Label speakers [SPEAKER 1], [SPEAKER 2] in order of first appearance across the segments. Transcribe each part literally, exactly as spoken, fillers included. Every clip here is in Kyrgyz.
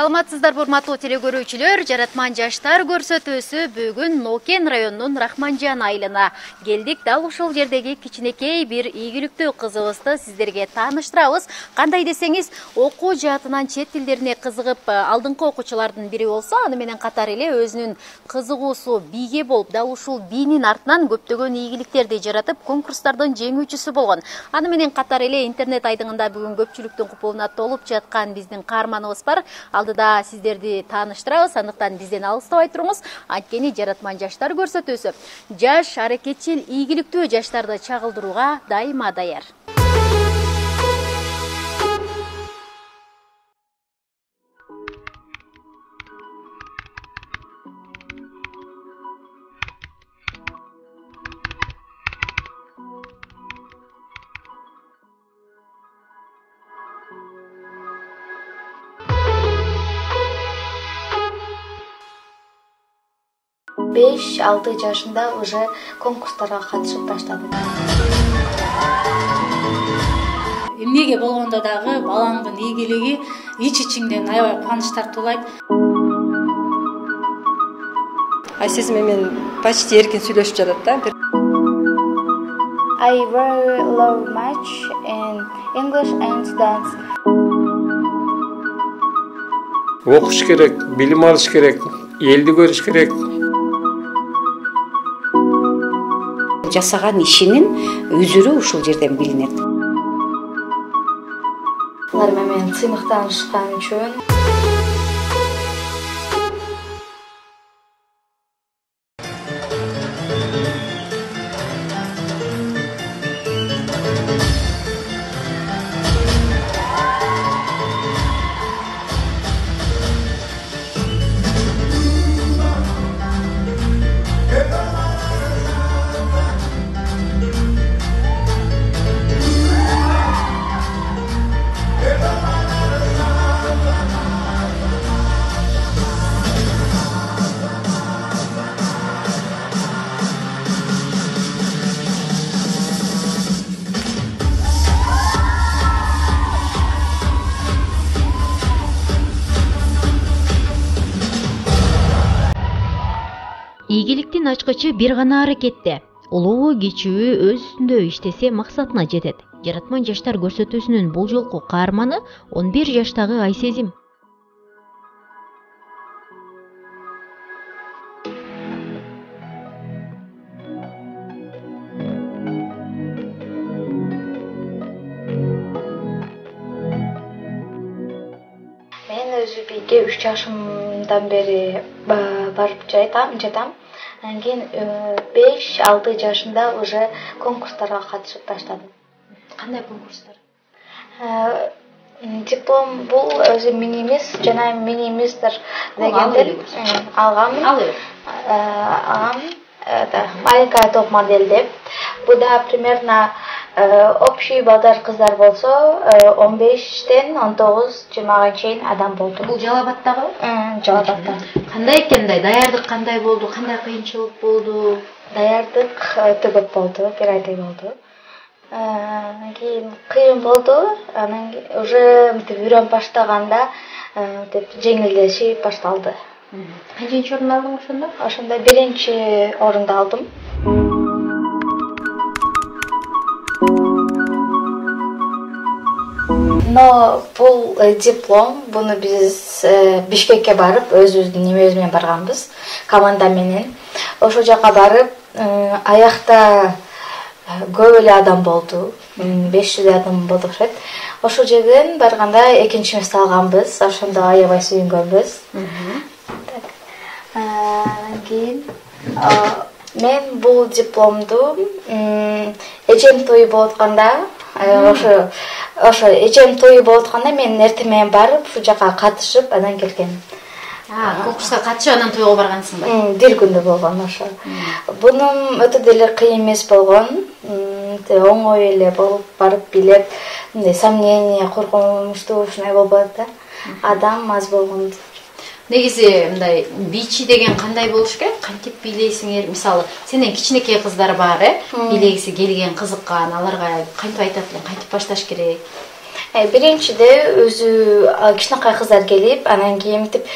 [SPEAKER 1] Саламатсыздарбы урматтуу телекөрүүчүлөр, Жаратман жаштар көрсөтүүсү бүгүн Нокен районунун Рахманжан айылына келдик. Дал ушул жердеги кичинекей бир ийгиликтүү кызыбызды сиздерге тааныштырабыз. Кандай десеңиз, окуу жаатынан чет тилдерине кызыгып алдыңкы окуучулардын бири болсо, аны менен катар эле өзүнүн кызыгуусу бийге болуп, дал ушул бийнин артынан көптөгөн ийгиликтерди жаратып, конкурстардын жеңүүчүсү болгон. Аны менен катар эле интернет айдыңында бүгүн көпчүлүктүн купуна толуп жаткан биздин каарманыбыз бар. Алдыда сиздерди тааныштырабыз, андыктан бизден алыстабай туруңуз. Анткени Жаратман жаштар көрсөтүүсү жаш, аракетчил, ийгиликтүү жаштарды чагылдырууга дайыма даяр.
[SPEAKER 2] беш алты жашында уже конкурстарга катышып баштадым.
[SPEAKER 3] Эмнеге болгондо дагы балаңдын ийгилиги ич-ичиңден аябай кубаныч тартуулайт.
[SPEAKER 4] Ай сезим менен почти эркин сүйлөшүп жатат да.
[SPEAKER 2] I very love much in English and dance.
[SPEAKER 5] Окуш керек, билим алыш керек, элди көрүш керек.
[SPEAKER 6] Жасаган ишинин өзүрү ушул жерден билинет.
[SPEAKER 2] Алар менен сыймыктанышкан үчүн
[SPEAKER 1] Ийгиликтин ачкычы бир гана аракетте. Улуу кичүү өз үстүндө иштесе максатына жетет. Жаратман жаштар көрсөтүүсүнүн бул жолку каарманы он бир жаштагы Айсезим.
[SPEAKER 2] мен өзү бийге үч жашымдан бери барып жатам, жатам. Андан кийин беш алты жашында уже конкурстарга катышып баштадым.
[SPEAKER 1] Кандай конкурстар?
[SPEAKER 2] Диплом бул өзү мини-мисс жана мини-мистер дегендер алганмын. Алганмын. Маленькая топ модель деп. Буда примерно общий балдар кыздар болсо он бештен он тогуз жыйырмага чейин адам болду.
[SPEAKER 1] Бул Жалал-Абадтагы?
[SPEAKER 2] Жалал-Абадта.
[SPEAKER 1] Кандай экен, даярдык кандай болду? Кандай кыйынчылык болду?
[SPEAKER 2] Даярдык өтө көп болду, бир айдай болду. Анан кийин кыйын болду. Анан уже мынтип үйрөнүп баштаганда мынтип жеңилдешип башталды.
[SPEAKER 1] Канчынчы орун алдың ошондо?
[SPEAKER 2] Ошондо биринчи орунду алдым. Но бул диплом, буну биз Бишкекке барып, өзүбүздүн немебиз менен барганбыз, команда менен. Ошол жака барып, аякта көп эле адам болду, беш жүз адам болду окшойт. Ошол жерден барганда экинчи место алганбыз, ошондо аябай сүйүнгөнбүз. Андан кийин мен бул дипломду эжем тою болуп атканда, ошо ошо эжем тою болуп атканда мен эртең менен барып, ушул жака катышып, анан келгем.
[SPEAKER 1] Конкурска катышып, анан тойго баргансыңбы?
[SPEAKER 2] Бир күндө болгон ошо. Бунун өтө деле кыйын эмес болгон. Оңой эле болуп барып билеп, мындай сомнение, коркунучтуу ушундай болбойт да. Адам аз болгон.
[SPEAKER 1] Негизи мындай бийчи деген кандай болуш керек? Кантип бийлейсиңер? Мисалы, сенден кичинекей кыздар бар, э? Бийлегиси келген, кызыккан, аларга кантип айтат элең, кантип башташ керек?
[SPEAKER 2] Биринчиде өзү кичинекей кыздар келип, анан кийин мынтип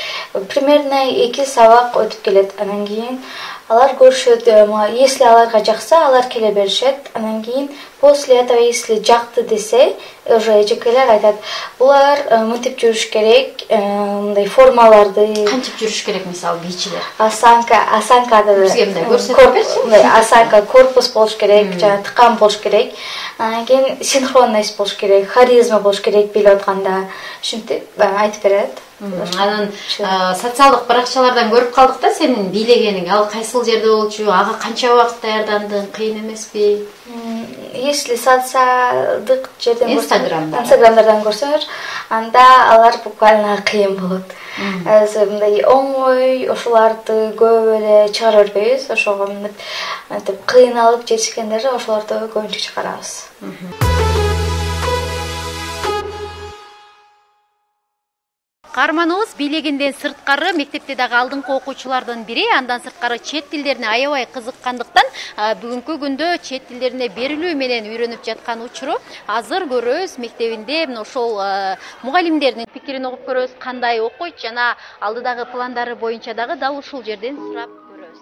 [SPEAKER 2] примерно эки сабак өтүп келет. Анан кийин алар көрүшөт, если аларга жакса, алар келе беришет. Анан кийин после этого если жакты десе, уже эжекелер айтат, булар мынтип жүрүш керек, мындай формаларды
[SPEAKER 1] кантип жүрүш керек, мисалы бийчилер.
[SPEAKER 2] Осанка, осанкада
[SPEAKER 1] бизге мындай көрсөтүп берчи.
[SPEAKER 2] Осанка, корпус болуш керек, жана тыкан болуш керек. Анан кийин синхронность болуш керек, харизма болуш керек билип атканда. Ушинтип айтып берет.
[SPEAKER 1] Анан социалдык баракчалардан көрүп калдык да сенин бийлегениң. Ал кайсыл жерде болчу? Ага канча убакыт даярдандың? Кыйын эмеспи?
[SPEAKER 2] Если социалдык жерден
[SPEAKER 1] Инстаграмда,
[SPEAKER 2] Инстаграмдардан көрсөөр, анда алар буквально кыйын болот. Өзү мындай оңой ошоларды көп эле чыгара бербейбиз. Ошого мынтип кыйналып жетишкендерди ошолорду көбүнчө чыгарабыз.
[SPEAKER 1] Каарманыбыз бийлегинден сырткары мектепте дагы алдыңкы окуучулардын бири, андан сырткары чет тилдерине аябай кызыккандыктан бүгүнкү күндө чет тилдерине берилүү менен үйрөнүп жаткан учуру азыр көрөбүз. Мектебинде ошол мугалимдердин пикирин угуп көрөбүз, кандай окуйт жана алдыдагы пландары боюнча дагы дал ушул жерден сурап көрөбүз.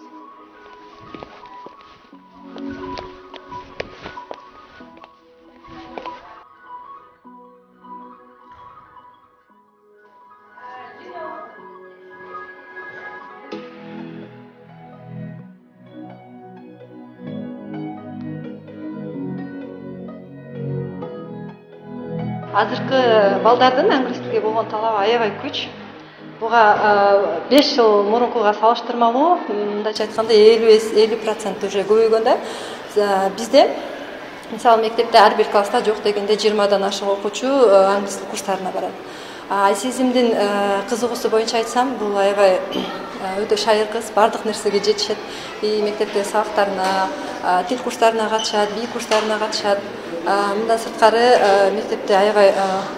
[SPEAKER 4] Азыркы балдардын англис тилге болгон талабы аябай күч. Буга беш жыл мурункуга салыштырмалуу, мындайча айтканда элүү процент уже көбөйгөн да. Бизде мисалы мектепте ар бир класста жок дегенде жыйырмадан ашык окуучу англис тил курстарына барат. Айсезимдин кызыгуусу боюнча айтсам, бул аябай өтө шайыр кыз, бардык нерсеге жетишет. И мектепте сабактарына, тил курстарына катышат, бий курстарына катышат. Мындан сырткары мектепте аябай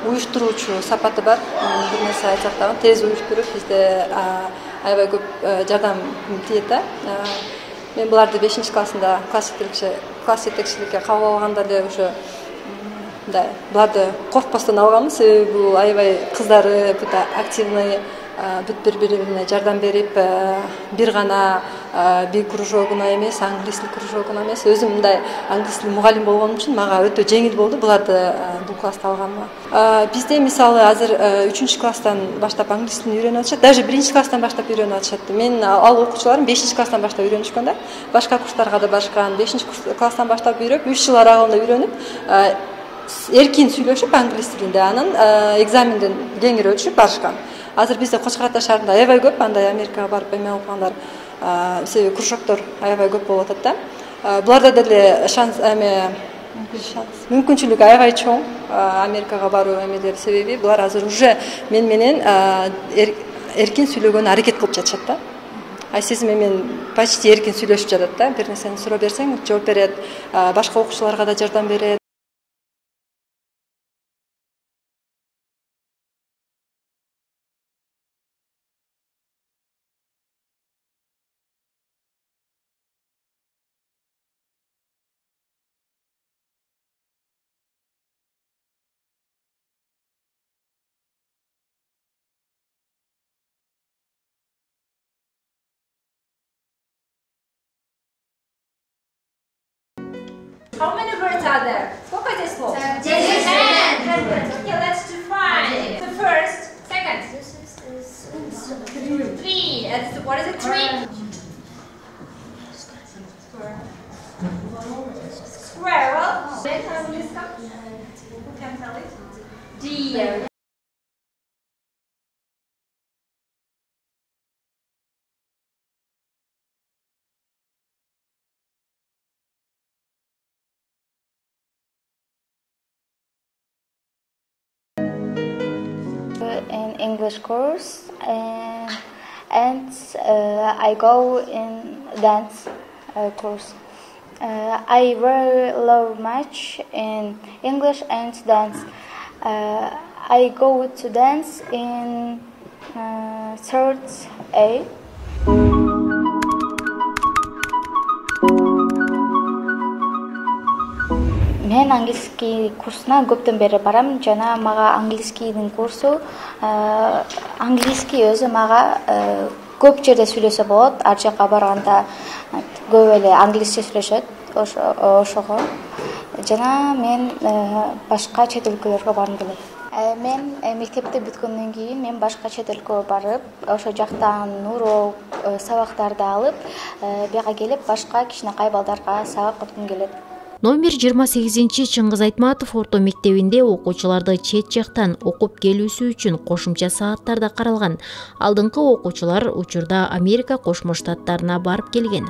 [SPEAKER 4] уюштуруучу сапаты бар. Бир нерсе айтсак дагы тез уюштуруп, бизде аябай көп жардам тиет да. Мен буларды бешинчи классында класс жетекчиликке кабыл алганда эле уже мындай буларды коркпостон алганмын, себеби бул аябай кыздары бүт активный, бүт бири-бирине жардам берип, бир гана бий кружогуна эмес, англис тил кружогуна эмес, өзүм мындай англис тил мугалим болгонум үчүн мага өтө жеңил болду буларды бул класста алганыма. Бизде мисалы азыр үчүнчү класстан баштап англис тилин үйрөнүп атышат, даже биринчи класстан баштап үйрөнүп атышат. Мен ал окуучуларым бешинчи класстан баштап үйрөнүшкөн да. Башка курстарга да барышкан, бешинчи класстан баштап үйрөнүп, үч жыл аралыгында үйрөнүп, эркин сүйлөшүп англис тилинде, анан экзаменден кеңири өтүшүп барышкан. Азыр бизде Кочкор Ата шаарында аябай көп андай Америкага барып эме окугандар, себеби кружоктор аябай көп болуп атат да. Буларда деле шанс эме мүмкүнчүлүк аябай чоң Америкага баруу эмелери, себеби булар азыр уже мен менен эркин сүйлөгөнгө аракет кылып жатышат да. Айсезим менен почти эркин сүйлөшүп жатат да. Бир нерсени сурап берсең жооп берет, башка окуучуларга да жардам берет.
[SPEAKER 7] How many birds are there? Сколько здесь слов? Ten. Okay, let's define. The first, second. Three. And what is a tree? Squirrel. Who can tell it? Deer.
[SPEAKER 2] In English course, and, and uh, I go in dance uh, course. Uh, I very love much in English and dance. Uh, I go to dance in uh, third A. Мен английский курсуна көптөн бери барам жана мага английскийдин курсу английский өзү мага көп жерде сүйлөсө болот. Ар жака барганда көп эле англисче сүйлөшөт ошого. Жана мен башка чет өлкөлөргө баргым келет. Мен мектепти бүткөндөн кийин мен башка чет өлкөгө барып, ошо жактан урок, сабактарды алып, буяка келип башка кичинекай балдарга сабак өткүм келет.
[SPEAKER 1] Номер жыйырма сегизинчи Чыңгыз Айтматов орто мектебинде окуучуларды чет жактан окуп келүүсү үчүн кошумча сааттар да каралган. Алдыңкы окуучулар учурда Америка Кошмо Штаттарына барып келген.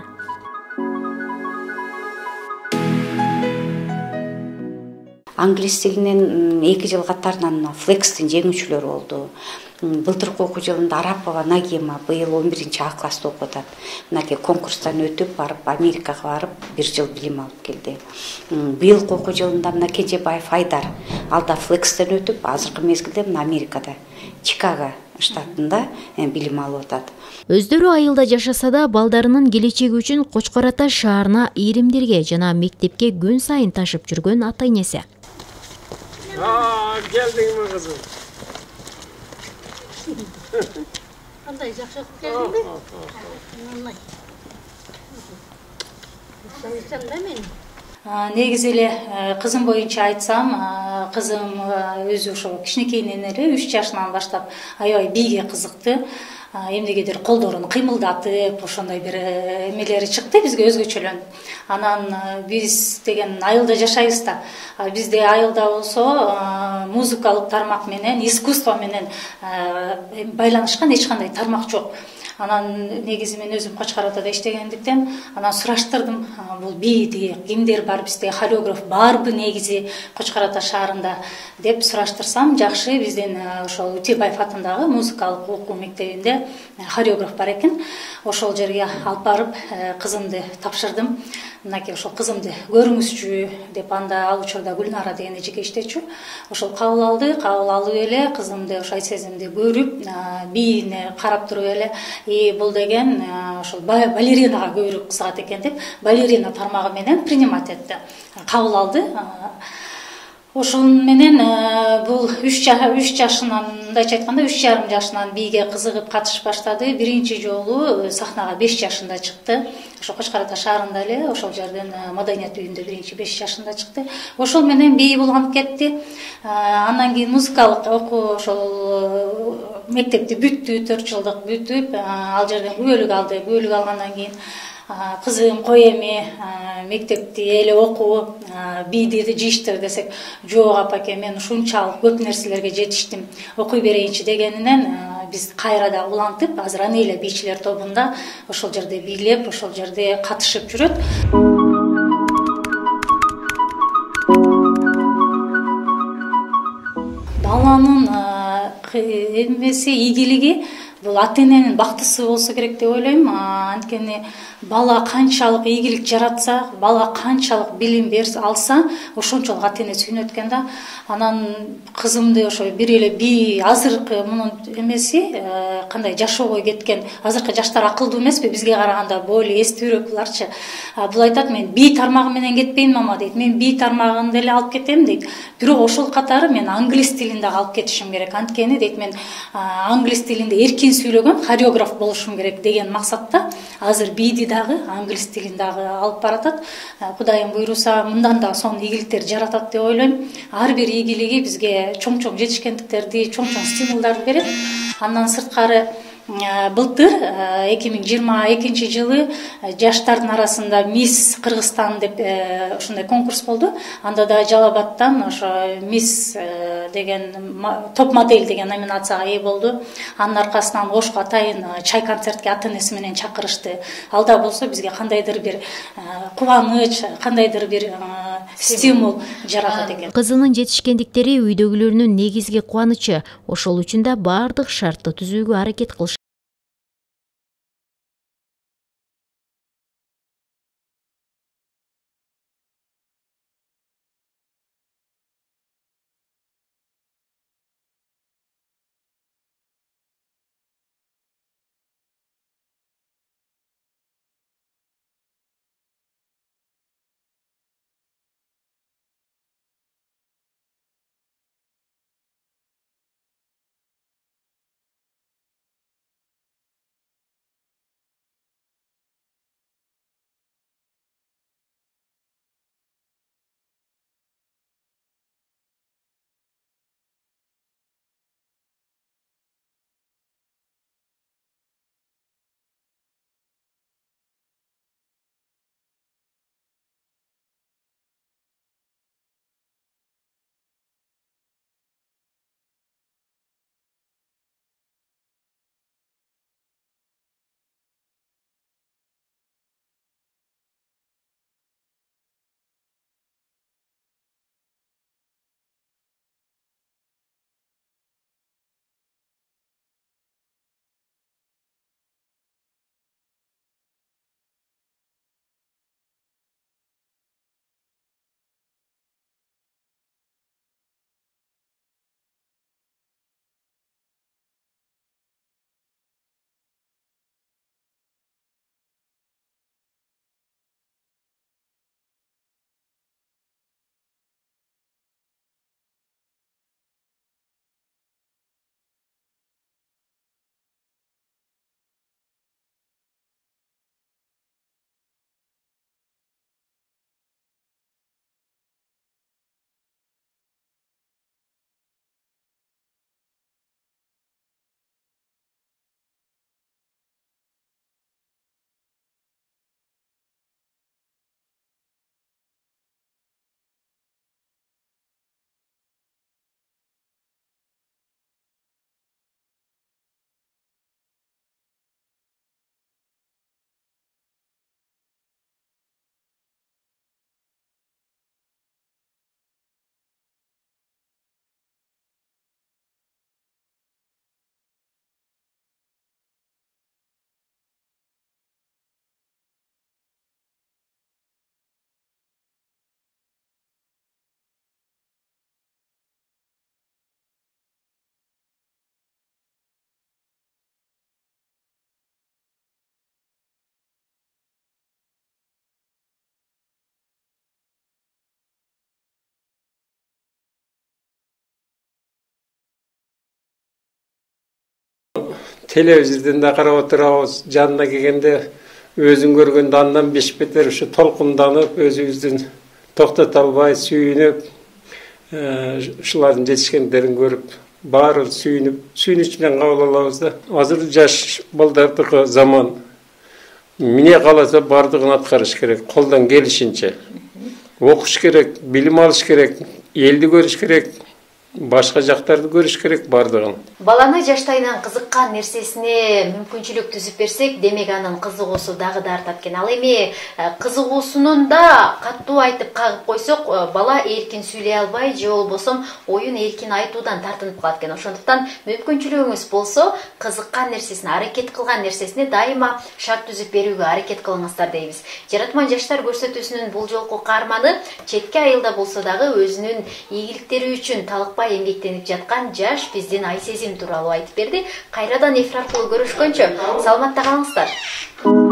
[SPEAKER 6] Англис тилинен эки жыл катарынан Флекстин жеңүүчүлөрү болду. Былтыркы окуу жылында Арапова Нагима быйыл он биринчи А класста окуп атат. Мынакей конкурстан өтүп барып Америкага барып бир жыл билим алып келди. Быйылкы окуу жылында мына Кенжебаев Айдар ал да Флекстен өтүп, азыркы мезгилде мына Америкада, Чикаго штатында билим алып атат.
[SPEAKER 1] Өздөрү айылда жашаса да, балдарынын келечеги үчүн Кочкор Ата шаарына ийримдерге жана мектепке күн сайын ташып жүргөн ата-энеси.
[SPEAKER 5] А, келдиңби кызым?
[SPEAKER 3] Кандай жакшы окуп келдиңби? Оңой. Ошондон да мен негизи эле кызым боюнча айтсам, кызым өзү ошо кичинекейинен эле үч жашынан баштап аябай бийге кызыкты. Эмнегедир колдорун кыймылдатып, ошондой бир эмелери чыкты бизге өзгөчөлөнүп. Анан биз деген айылда жашайбыз да. Бизде айылда болсо музыкалык тармак менен, искусство менен байланышкан эч кандай тармак жок. Анан негизи мен өзүм Кочкор Атада иштегендиктен анан сураштырдым, бул бийди кимдер бар, бизде хореограф барбы негизи Кочкор Ата шаарында деп сураштырсам, жакшы биздин ошол Утебаев атындагы музыкалык окуу мектебинде хореограф бар экен. Ошол жерге алып барып кызымды тапшырдым. Мынакей ошол кызымды көрүңүзчү деп, анда ал учурда Гүлнара деген эжеке иштечү. Ошол кабыл алды, кабыл алып эле кызымды ошо сезимди көрүп, бийине карап туруп эле и бул деген ошол балеринага көбүрөөк кызыгат экен деп, балерина тармагы менен принимать этти. Кабыл алды. Ошол менен бул үч жашынан, мындайча айтканда үч жарым жашынан бийге кызыгып катышып баштады. Биринчи жолу сахнага беш жашында чыкты. Ошо Кочкор Ата шаарында эле, ошол жерден Маданият үйүндө биринчи беш жашында чыкты. Ошол менен бий булганып кетти. Андан кийин музыкалык окуу ошол мектепти бүттү, төрт жылдык бүтүп, ал жерден күбөлүк алды. Күбөлүк алгандан кийин кызым кой эми мектепти эле окуу, бийди жиштир десек, жок апаке, мен ушунчалык көп нерселерге жетиштим, окуй берейинчи дегенинен биз кайрадан улантып, азыр Анейла бийчилер тобунда ошол жерде бийлеп, ошол жерде катышып жүрөт. Баланын эмеси, ийгилиги бул ата-эненин бактысы болсо керек деп ойлойм. Анткени бала канчалык ийгилик жаратса, бала канчалык билим берсе алса, ошончолук ата-эне сүйүнөт экен да. Анан кызымды ошо бир эле бий, азыркы мунун эмеси кандай жашоого кеткен, азыркы жаштар акылдуу эмеспи, бизге караганда более эстүүрөөк буларчы. Бул айтат, мен бий тармагы менен кетпейм мама дейт. Мен бий тармагын деле алып кетем дейт. Бирок ошол катары мен англис тилин дагы алып кетишим керек. Анткени дейт, мен англис тилинде эркин сүйлөгөн хореограф болушум керек деген максатта азыр бийди дагы, англис тилин дагы алып баратат. Кудайым буйруса, мындан да сонун ийгиликтер жаратат деп ойлойм. Ар бир ийгилиги бизге чоң-чоң жетишкендиктерди, чоң-чоң стимулдарды берет. Андан сырткары былтыр эки миң жыйырма экинчи жылы жаштардын арасында Мисс Кыргызстан деп ушундай конкурс болду. Анда да Жалал Абадтан ошо Мисс деген топ модель деген номинацияга ээ болду. Анын аркасынан Ошко атайын чай концертке ата-энеси менен чакырышты. Алда болсо бизге кандайдыр бир кубаныч, кандайдыр бир стимул жаратат экен.
[SPEAKER 1] Кызынын жетишкендиктери үйдөгүлөрүнүн негизги кубанычы. Ошол үчүн да бардык шартты түзүүгө аракет кылышат.
[SPEAKER 5] телевизордон да карап отурабыз, жанына келгенде өзүн көргөндө андан беш бетер ушу толкунданып, өзүбүздүн токтото албай сүйүнүп, ушулардын жетишкендерин көрүп, баары сүйүнүп, сүйүнүч менен кабыл алабыз да. Азыр жаш балдардыкы заман. Эмне кааласа бардыгын аткарыш керек, колдон келишинче. Окуш керек, билим алыш керек, элди көрүш керек, башка жактарды көрүш керек бардыгын.
[SPEAKER 1] Баланы жаштайынан кызыккан нерсесине мүмкүнчүлүк түзүп берсек, демек анын кызыгуусу дагы да артат экен. Ал эми кызыгуусунун да каттуу айтып кагып койсок, бала эркин сүйлөй албай, же болбосо оюн эркин айтуудан тартынып калат экен. Ошондуктан мүмкүнчүлүгүңүз болсо, кызыккан нерсесине, аракет кылган нерсесине дайыма шарт түзүп берүүгө аракет кылыңыздар дейбиз. Жаратман жаштар көрсөтүүсүнүн бул жолку каарманы четке айылда болсо дагы өзүнүн ийгиликтери үчүн талыкпай эмгектенип жаткан жаш биздин Айсезим тууралуу айтып берди. Кайрадан эфир аркылуу көрүшкөнчө саламатта калыңыздар.